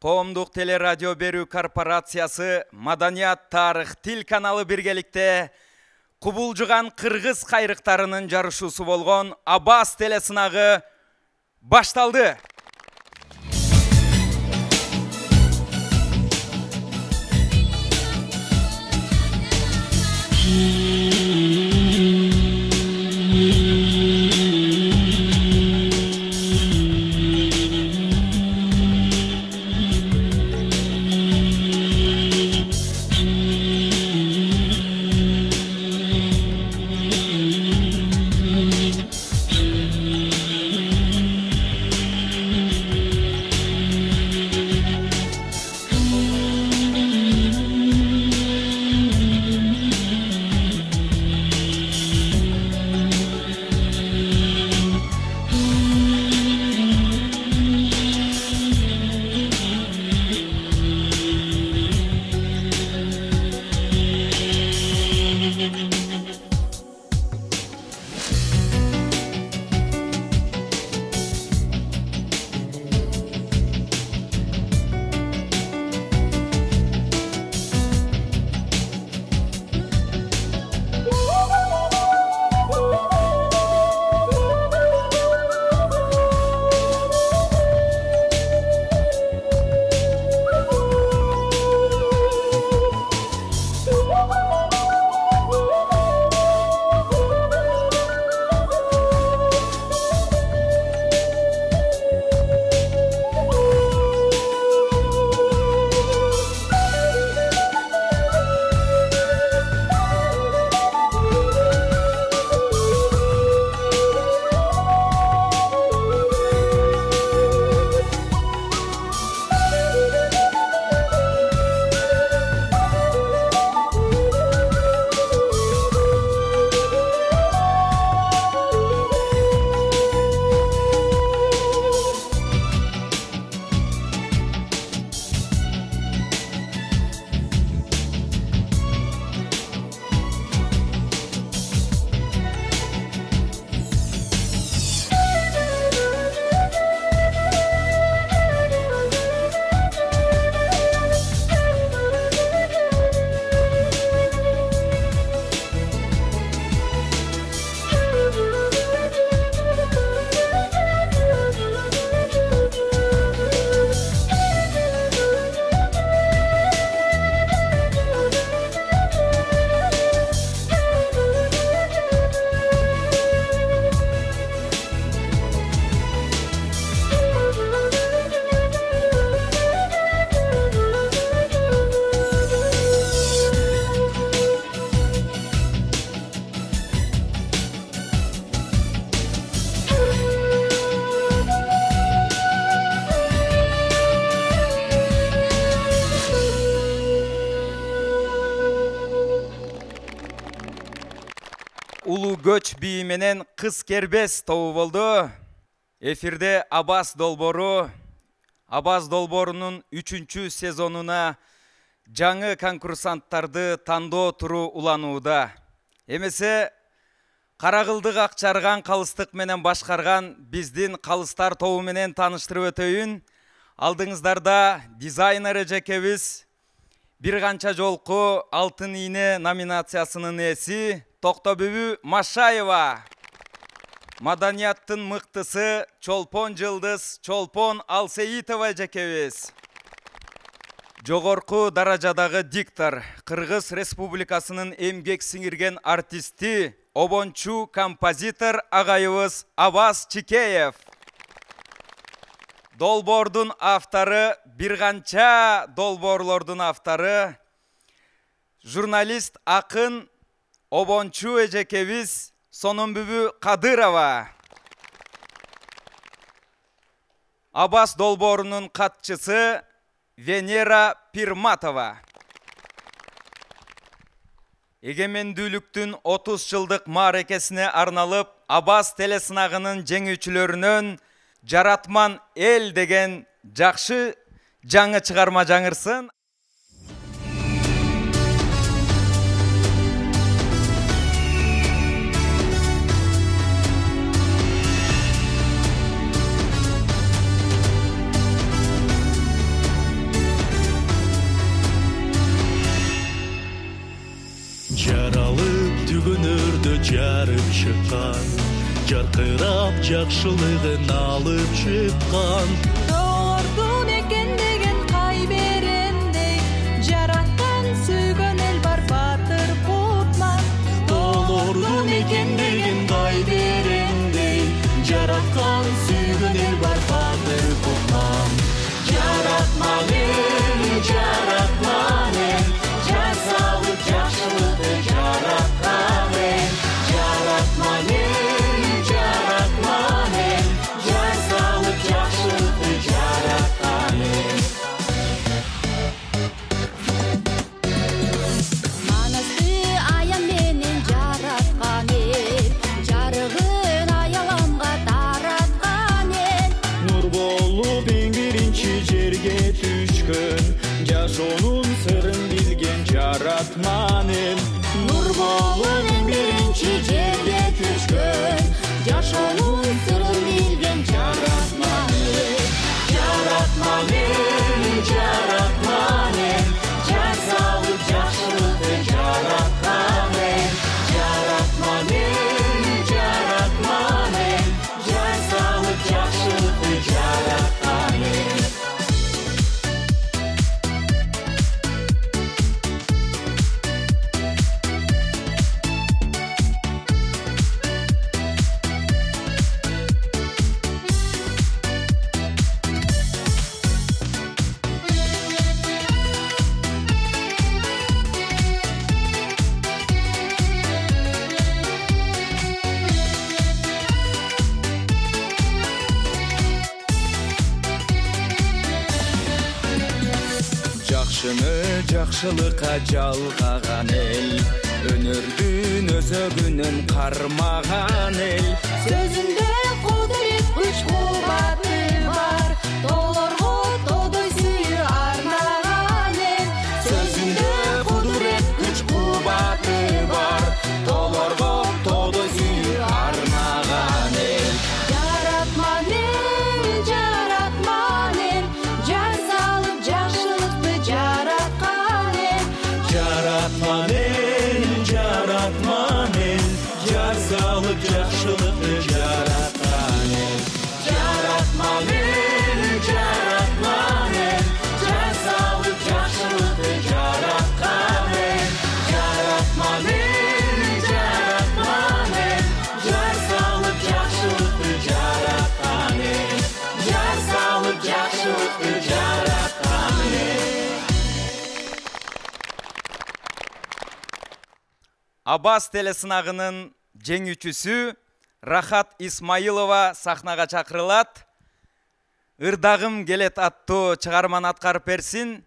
Коомдук телерадио берүү корпорациясы Маданият, тарых, тил каналы биргеликте кубулжуган кыргыз кайрыктарынын жарышуусу болгон Абас телесынагы башталды. Улуу көч бии менен кыз кербес тобу болду. Эфирде Абас долбоору. Абас долбоорунун 3-чү сезонуна жаңы конкурсанттарды тандоо туру уланууда. Эмесе Карагылдык Акчарган калыстык менен башкарган биздин калыстар тобу менен тааныштырып өтөйүн. Алдыңыздарда дизайнер эжекебиз, бир канча жолку Алтын ийне номинациясынын ээси Токтобүбү Машаева. Маданияттын мыктысы Чолпон Жылдыз, Чолпон Алсеитова эжекебиз. Жогорку даражадагы диктор, Кыргыз Республикасынын эмгек сиңирген артисти, обончу композитор агайыбыз Абас Чикеев. Долбоордун автору, бир канча долбоорлордун автору, журналист, акын, обончу эжекебиз Сономбүбү Кадырова. Абас долбоорунун катчысы Венера Пирматова. Эгемендүүлүктүн 30 жылдык мааракесине арналып Абас телесынагынын жеңүүчүлөрүнөн Жаратман эл деген жакшы жаңы чыгарма жаңырсын. көңүлдө жарып чыккан, жаркырап жакшылыгын алып чыккан. Долордун экен деген кай берендей, жараткан сүйгөн эл бар батыр кутман. Долордун экен деген кай берендей, жараткан сүйгөн эл бар батыр кутман. Жаратман эл, жар салып жакшылыкты жараткан эл. Жаратман эл, жар салып жакшылыкты жараткан эл. Манасты аян менен жараткан эл, жарыгын аяламга тараткан эл. Нур болуп эң биринчи жерге түшкөн, жашоонун сырын билген жаратман эл. Нур болуп эң биринчи жерге түшкөн, жашоонун сырын билген жаратман эл. Жаратман эл, жар салып жакшылыкты жараткан эл. Жаратман эл, жар салып жакшылыкты жараткан эл. Жакшыны жакшылыкка жалгаган эл, өнөрдүн өзөгүнөн кармаган эл. Сөзүндө кудурет күч кубаты бар, долорго тодой сүйүү арнаган эл. Сөзүндө кудурет күч кубаты бар, долорго тодой сүйүү арнаган эл. Жаратман эл, жар салып жакшылыкты жараткан эл. Жаратман эл, жар салып жакшылыкты жараткан эл. Жаратман эл, жар салып жакшылыкты жараткан эл. Жаратман эл, жар салып жакшылыкты жараткан эл. Жар салып жакшылыкты жараткан эл. Абаз телесынагынын жеңүүчүсү Рахат Исмаилова сахнага чакырылат. Ырдагым келет аттуу чыгарманы аткарып берсин.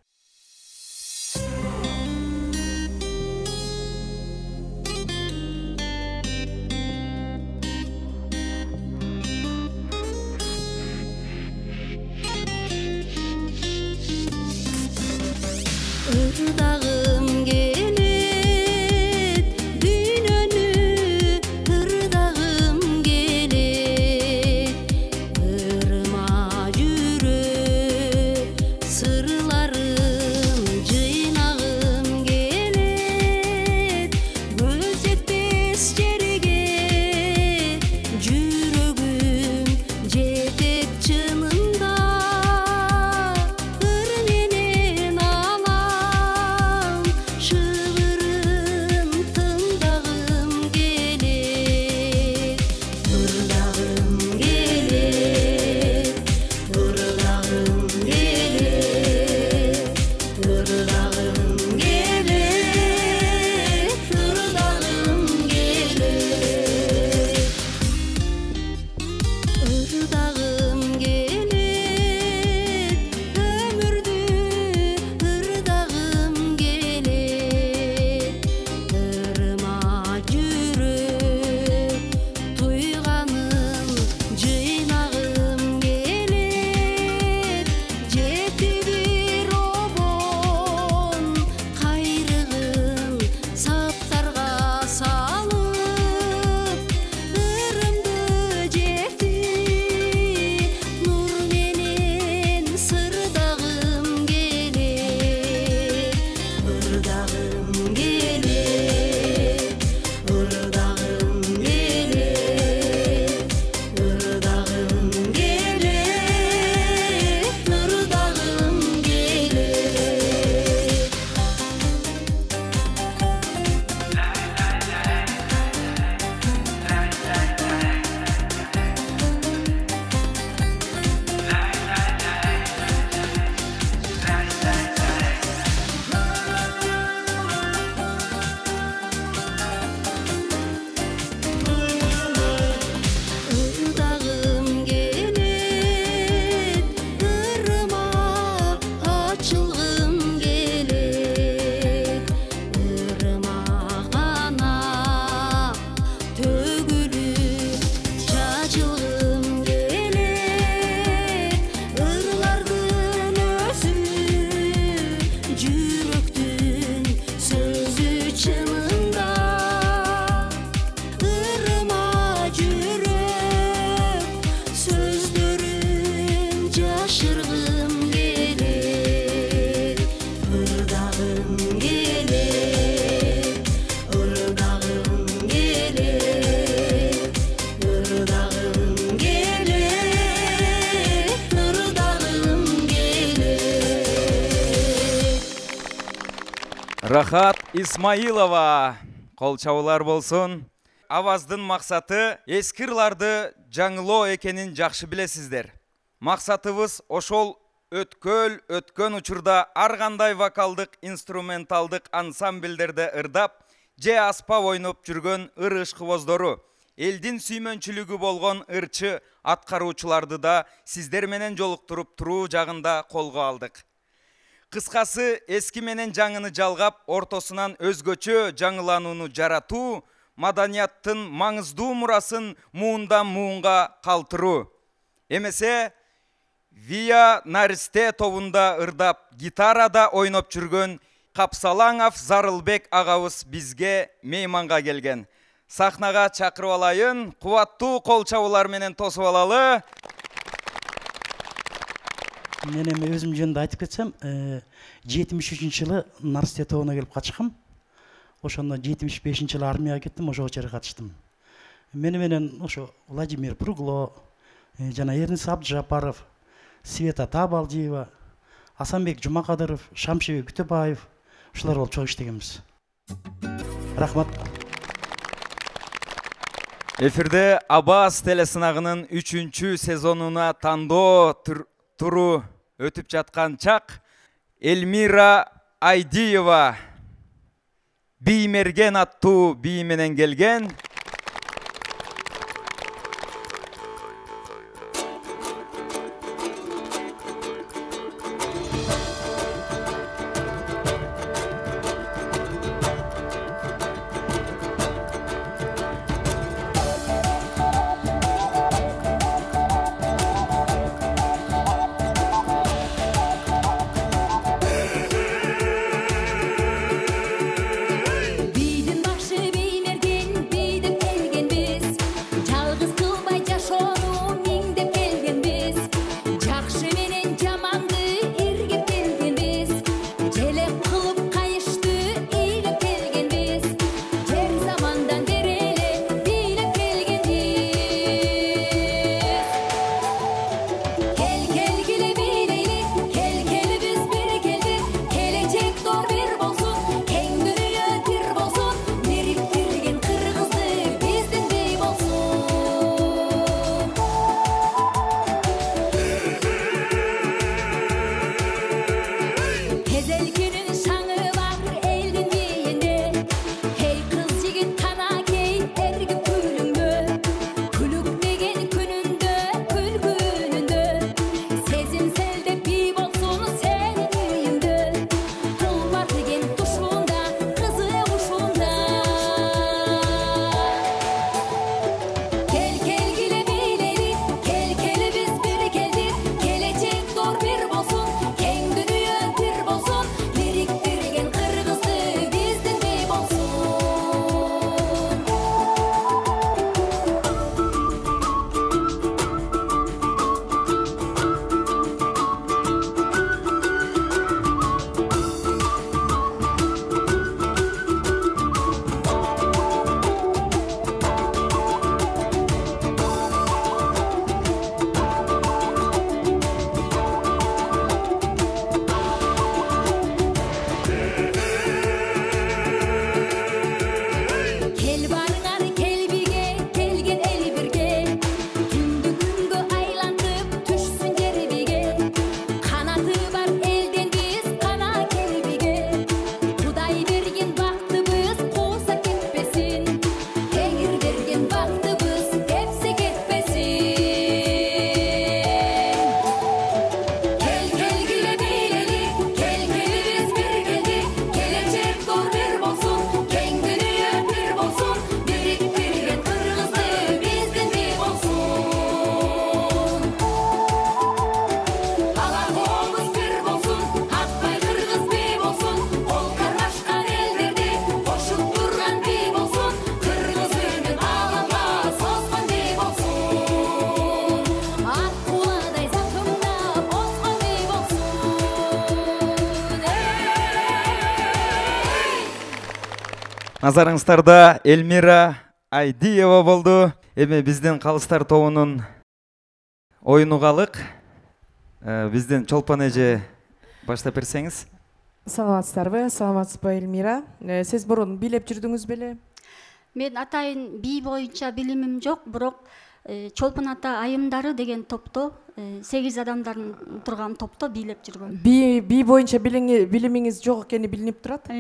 Ырдагым келет, дүйнөнү ырдагым келет. Ырма жүрөк сырларым жыйнагым келет. Көз жетпес жерге жүрөгүм жетет чынында. Ыр менен алам шыбырын тыңдагым келет. Ырдагым келет, ырдагым келет, ырдагым келет, ырдагым келет. Ырдагым келет, өмүрдү ырдагым келет. Ырма жүрөк туйганым жыйнагым келет. Жетти бир обон ырдагым келет, ырдагым келет, ырдагым келет, ырдагым келет. Рахат Исмаилова, кол чабуулар болсун. Аваздын максаты эски ырларды жаңылоо экенин жакшы билесиздер. Максатыбыз ошол өткөн учурда ар кандай вокалдык, инструменталдык ансамбльдерде ырдап, же аспап ойноп жүргөн ыр ышкыбоздору, элдин сүймөнчүлүгү болгон ырчы аткаруучуларды да сиздер менен жолуктуруп туруу жагында колго алдык. Кыскасы, эски менен жаңыны жалгап, ортосунан өзгөчө жаңыланууну жаратуу, маданияттын маңыздуу мурасын муундан муунга калтыруу. Эмесе, Вия Наристе тобунда ырдап, гитарада ойноп жүргөн Капсалаңов Зарылбек агабыз бизге мейманга келген. Сахнага чакырып алайын, кубаттуу кол чабуулар менен тосуп алалы. Мен эми өзүм жөнүндө айтып кетсем, 73-жылы Наристе тобуна келип катышкам. Ошондо 75-жылы армияга кеттим, ошого чейин катыштым. Мени менен ошо Владимир Пругло, жана Эрнис Абджапаров, Света Табалжиева, Асанбек Жумакадыров, Шамшибек Күтөбаев ушулар болуп чогуу иштегенбиз. Рахмат. Эфирде Абаз телесынагынын 3-чү сезонуна тандоо туру өтүп жаткан чак Элмира Айдиева Биймерген аттуу бии менен келген. Бийдин башы биймерген, бийде Назарыңыздарда Элмира Айдиева болду. Эми биздин Калыстар тобунун оюну калык. Биздин Чолпон эже баштап берсеңиз. Саламатсыздарбы? Саламатсызбы, Элмира? Сиз мурун бийлеп жүрдүңүз беле? Мен атайын бий боюнча билимим жок, бирок Чолпон ата айымдары деген топто 8 адамдардын турган топто бийлеп жүргөм. Бий боюнча билимиңиз жок экени билинип турат.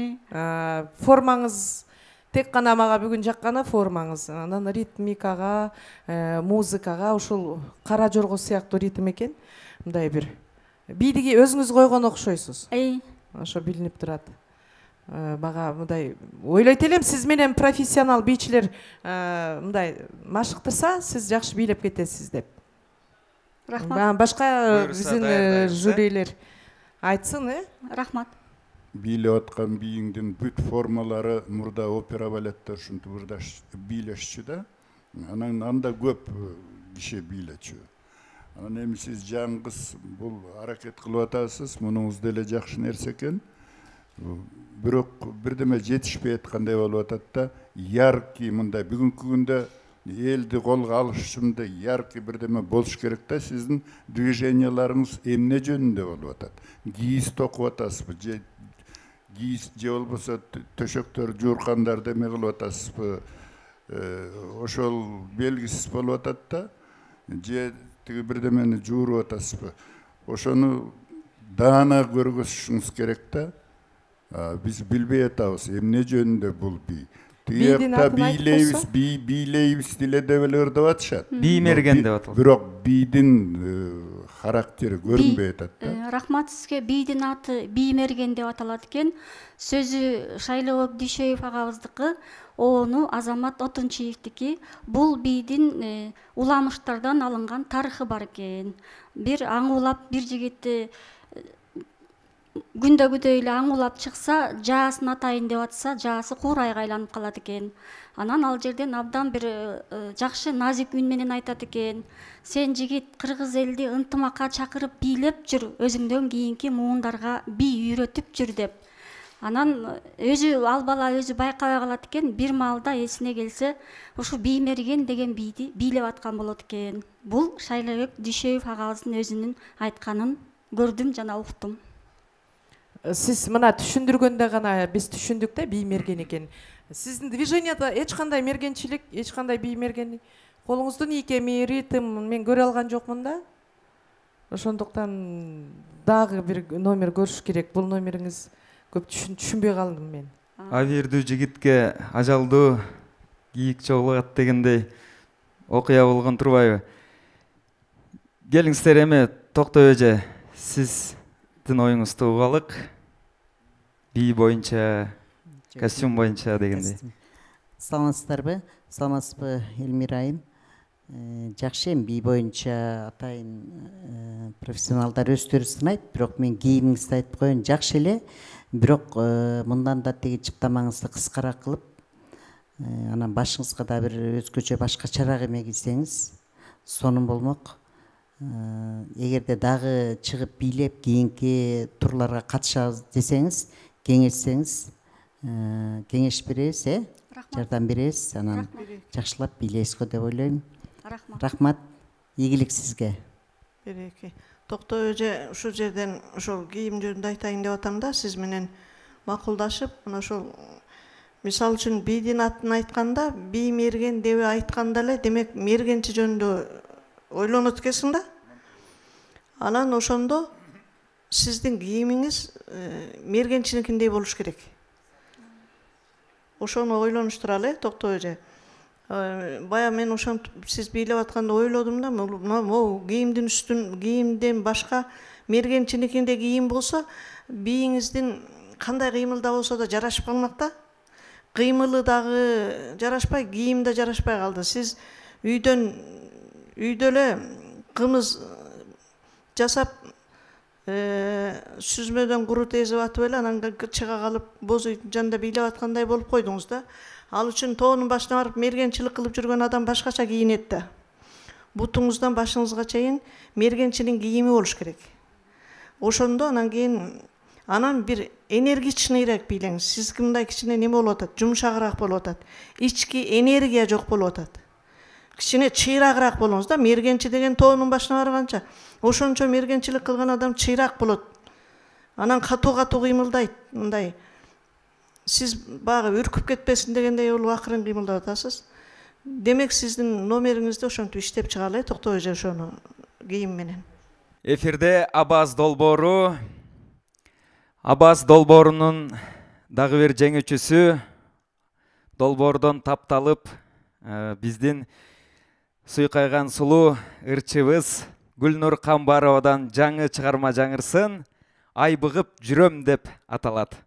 Формаңыз тек гана мага бүгүн жакканы формаңыз. Анан ритмикага, музыкага ушул кара жорго сыяктуу ритм экен. Мындай бир бийдиги өзүңүз койгон окшойсуз. Ошо билинип турат. Мага мындай ойлойт элем, сиз менен профессионал бийчилер мындай машыктырса, сиз жакшы бийлеп кетесиз деп. Рахмат. Башка биздин жюрилер айтсын, Рахмат. Бийлеп аткан бийиңдин бүт формалары мурда опера балеттер ушинтип ырдаш бийлешчү да. Анан анда көп киши бийлечү. Анан эми сиз жаңгыз бул аракет кылып атасыз, мунуңуз деле жакшы нерсе экен. Бирок бирдеме жетишпей аткандай болуп атат да, яркий мындай бүгүнкү күндө элди колго алыш үчүн да яркий бирдеме болуш керек да. Сиздин движенияларыңыз эмне жөнүндө болуп атат? Кийиз токуп атасызбы? Кийиз же болбосо төшөктөр жууркандарды эме кылып атасызбы? Ошол белгисиз болуп атат да. Же тиги бирдемени жууруп атасызбы? Ошону даана көргөзүшүңүз керек да. Биз билбей атабыз эмне жөнүндө бул бий. Тиякта бийлейбиз деле деп эле ырдап атышат. Биймерген деп аталат. Бирок бийдин характери көрүнбөй атат да. Рахмат сизге. Бийдин аты Биймерген деп аталат экен. Сөзү Шайлыбек Дүйшөев агабыздыкы, ону Азамат Отунчиевдики. Бул бийдин уламыштардан алынган тарыхы бар экен. Бир аңуулап бир жигитти күндөгүдөй эле аңуулап чыкса, жаасын атайын деп атса, жаасы куурайга айланып калат экен. Анан ал жерден абдан бир жакшы назик үн менен айтат экен. Сен жигит кыргыз элди ынтымакка чакырып бийлеп жүр, өзүңдөн кийинки муундарга бий үйрөтүп жүр деп. Анан өзү ал бала өзү байкабай калат экен. Бир маалда эсине келсе, ушу Биймерген деген бийди бийлеп аткан болот экен. Бул Шайлыбек Дүйшөев агабыздын өзүнүн айтканын көрдүм жана уктум. Сиз мына түшүндүргөндө гана биз түшүндүк да Биймерген экен. Сиздин движенияда эч кандай мергенчилик, эч кандай Биймерген, колуңуздун ийкеми, ритм мен көрө алган жокмун да. Ошондуктан дагы бир номер көрүш керек. Бул номериңиз көп түшүнбөй калдым мен. Авирдүү жигитке ажалдуу кийик чогулат дегендей окуя болгон турбайбы? Келиңиздер эми Токтой эже, сиздин оюңузду угалык. Бий боюнча, костюм боюнча дегендей. Саламатсыздарбы? Саламатсызбы, Элмира айым? Жакшы эми бий боюнча атайын профессионалдар өздөрү сынайт, бирок мен кийимиңизди айтып коеюн, жакшы эле. Бирок мындан да тиги чыптамаңызды кыскараак кылып, анан башыңызга да бир өзгөчө башкачараак эме кийсеңиз сонун болмок. Эгерде дагы чыгып бийлеп кийинки турларга катышабыз десеңиз, кеңешсеңиз, кеңеш беребиз, жардам беребиз, анан жакшылап бийлейсизго деп ойлойм. Рахмат. Ийгилик сизге. Береке. Токтой эже, ушул жерден ошол кийим жөнүндө айтайын деп атам да, сиз менен макулдашып, мына ошол мисалы үчүн бийдин атын айтканда, Биймерген деп айтканда эле, демек мергенчи жөнүндө ойлонот экенсиң да. Анан ошондо сиздин кийимиңиз мергенчиникиндей болуш керек. Ошону ойлонуштуралы, Токтой эже. Бая мен ошентип сиз бийлеп атканда ойлодум да, могу кийимдин үстүн, кийимден башка мергенчиникинде кийим болсо, бийиңиздин кандай кыймылда болсо да жарашып калмак да. Кыймылы дагы жарашпай, кийим да жарашпай калды. Сиз үйдө эле кымыз жасап, сүзмөдөн курут эзип атып эле, анан чыга калып, боз үйдүн жанында бийлеп аткандай болуп койдуңуз да. Ал үчүн тоонун башына барып мергенчилик кылып жүргөн адам башкача кийинет да. Бутуңуздан башыңызга чейин мергенчинин кийими болуш керек. Ошондо анан кийин Анан бир энергичныйраак бийлеңиз. Сиздики мындай кичине неме болуп атат, жумшагыраак болуп атат. Ички энергия жок болуп атат. Кичине чыйрагыраак болуңуз да. Мергенчи деген тоонун башына барганча, ошончо мергенчилик кылган адам чыйраак болот. Анан катуу кыймылдайт, мындай. Сиз багы үркүп кетпесин дегендей болуп акырын кыймылдап атасыз. Демек сиздин номериңизди ошентип иштеп чыгалы, Токтоо эже, ошону кийим менен. Эфирде Абаз долбоору. Абаз долбоорунун дагы бир жеңүүчүсү долбоордон тапталып биздин суйкайган сулуу ырчыбыз Гүлнур Камбаровадан жаңы чыгарма жаңырсын «Ай быгып жүрөм» деп аталат.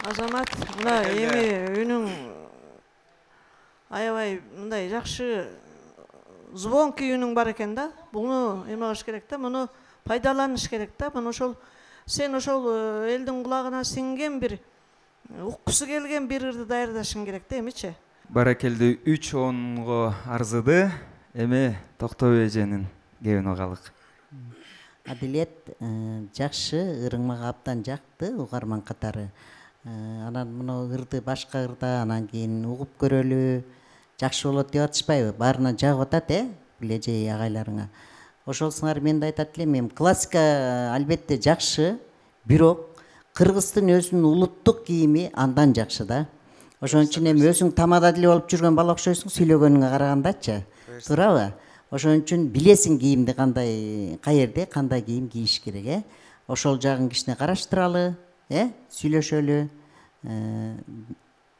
Азамат, мына эми үнүң аябай мындай жакшы звонкий үнүң бар экен да. Буну эме кылыш керек да, муну пайдаланыш керек да. Муну ошол сен ошол элдин кулагына сиңген бир уккусу келген бир ырды даярдашың керек да, эмичи? Баракелди 3 онго арзыды. Эми Токтоо эженин кебин угалык. Адилет жакшы, ырың мага абдан жакты, угарман катары. Анан муну ырды башка ырда анан кийин угуп көрөлү, жакшы болот деп атышпайбы? Баарына жагып атат, билежей агайларыңа. Ошолсуңар мен да айтат элем, эми классика албетте жакшы, бирок кыргыздын өзүнүн улуттук кийими андан жакшы да. Ошон үчүн эми өзүң тамада деле болуп жүргөн бала окшойсуң сүйлөгөнүңө карагандачы. Туурабы? Ошон үчүн билесиң кийимди кандай, каерде кандай кийим кийиш керек, Ошол жагын кичине караштыралы, сүйлөшөлү.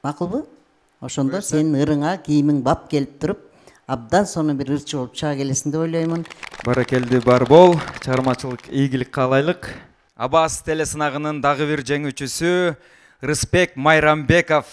Макулбу? Ошондо сенин ырыңа кийимиң бап келип туруп, абдан сону бир ырчы болуп чыга келесиң деп ойлоймун. Баракелди бар бол, чыгармачылык ийгилик каалайлык. Абаз телесынагынын дагы бир жеңүүчүсү Рыспек Майрамбеков.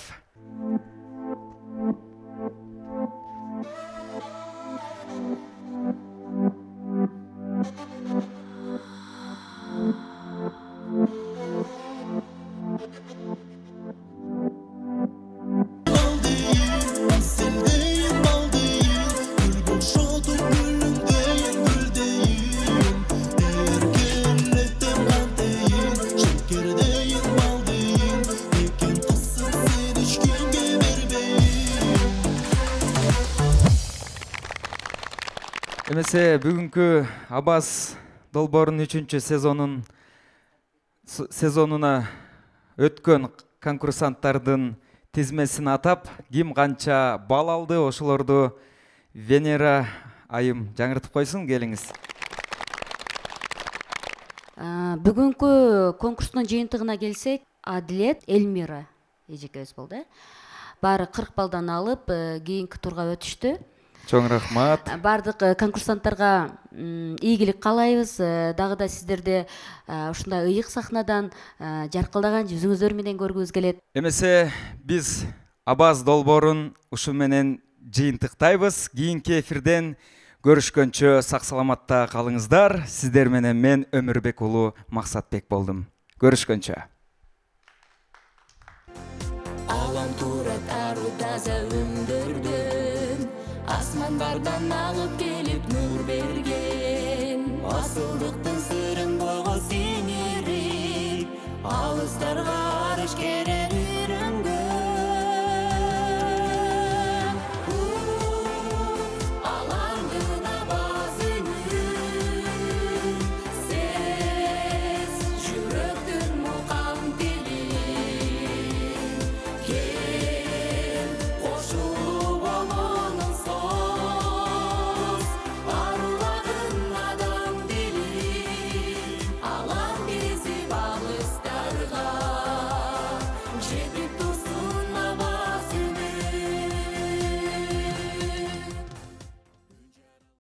Эмесе бүгүнкү Абаз долбоорунун 3-чү сезонуна өткөн конкурсанттардын тизмесин атап, ким канча бал алды, ошолорду Венера айым жаңыртып койсун, келиңиз. Бүгүнкү конкурстун жыйынтыгына келсек, Адилет Эльмира эжекебиз болду. Баары 40 балдан алып, кийинки турга өтүштү. Чоң рахмат. Бардык конкурсанттарга ийгилик каалайбыз. Дагы да сиздерди ушундай ыйык сахнадан жаркылдаган жүзүңүздөр менен көргүбүз келет. Эмесе биз Абаз долбоорун ушу менен жыйынтыктайбыз. Кийинки эфирден көрүшкөнчө сак саламатта калыңыздар. Сиздер менен мен Өмүрбек уулу Максатбек болдум. Көрүшкөнчө. Алам турат ару таза өндөрдөн, асмандардан агып келип нур берген. Асылдыктын сырын бойго сиңирип, алыстарга арыш керек үйрөнгөн. Алардын абазынын сез жүрөктүн мукам тилин. Кел кошулуп олонун соз, аруларын адам дилин. Алам кезип алыстарга жетип